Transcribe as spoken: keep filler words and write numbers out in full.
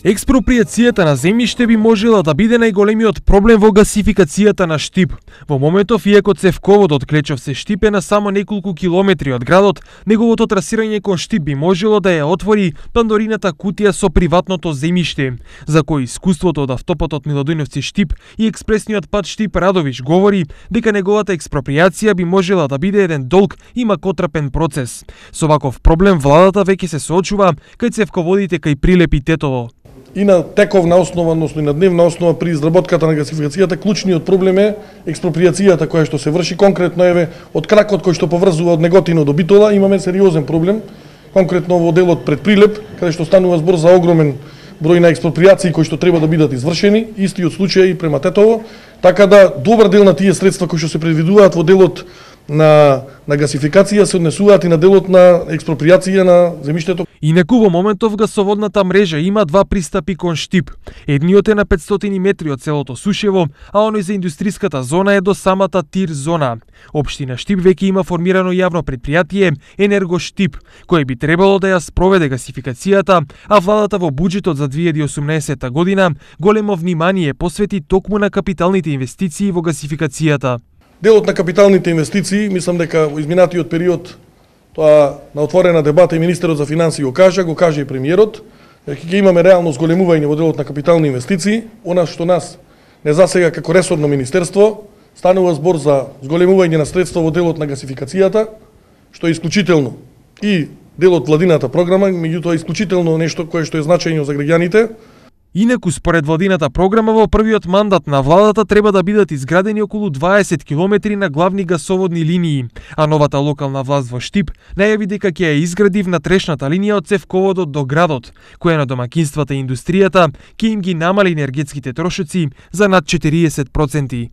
Експроприацијата на земјиште би можела да биде најголемиот проблем во гасификацијата на Штип. Во моментов, иако цевководот Клечовце Штип е на само неколку километри од градот, неговото трасирање кон Штип би можело да ја отвори Пандорината кутија со приватното земјиште, за кој искуството од автопатот Милодојновци Штип и експресниот пат Штип Радовиш говори дека неговата експроприација би можела да биде еден долг и макотрапен процес. Со ваков проблем владата веќе се соочува кај цевководите кај Прилеп и Тетово. И на тековна основа, односно и на дневна основа при изработката на гасификацијата, клучниот проблем е експроприацијата која што се врши. Конкретно еве од кракот кој што поврзува од Неготино до Битола имаме сериозен проблем. Конкретно во делот пред Прилеп, каде што станува збор за огромен број на експроприации кои што треба да бидат извршени, истиот случај и према Тетово, така да добар дел на тие средства кои што се предвидуваат во делот на на гасификација се однесуваат и на делот на експроприација на земјиштето. Инаку во моментов гасоводната мрежа има два пристапи кон Штип. Едниот е на петстотини метри од селото Сушево, а оној за индустријската зона е до самата Тир зона. Општина Штип веќе има формирано јавно предпријатие Енерго Штип, кој би требало да ја спроведе гасификацијата, а владата во буџетот за две илјади и осумнаесетта година големо внимание посвети токму на капиталните инвестиции во гасификацијата. Делот на капиталните инвестиции, мислам дека во изминатиот период тоа на отворена дебата и министерот за финансии го кажа, го кажа и премиерот, дека ќе имаме реално зголемување во делот на капитални инвестиции. Она што нас не засега како ресорно министерство, станува збор за зголемување на средства во делот на гасификацијата, што е исклучително. И делот владината програма, меѓутоа исклучително нешто кое што е значајно за граѓаните. Инаку, според владината програма, во првиот мандат на владата треба да бидат изградени околу дваесет километри на главни гасоводни линии, а новата локална власт во Штип најави дека ќе ја изгради внатрешната линија од цевководот до градот, која на домакинствата и индустријата ќе им ги намали енергетските трошоци за над четириесет проценти.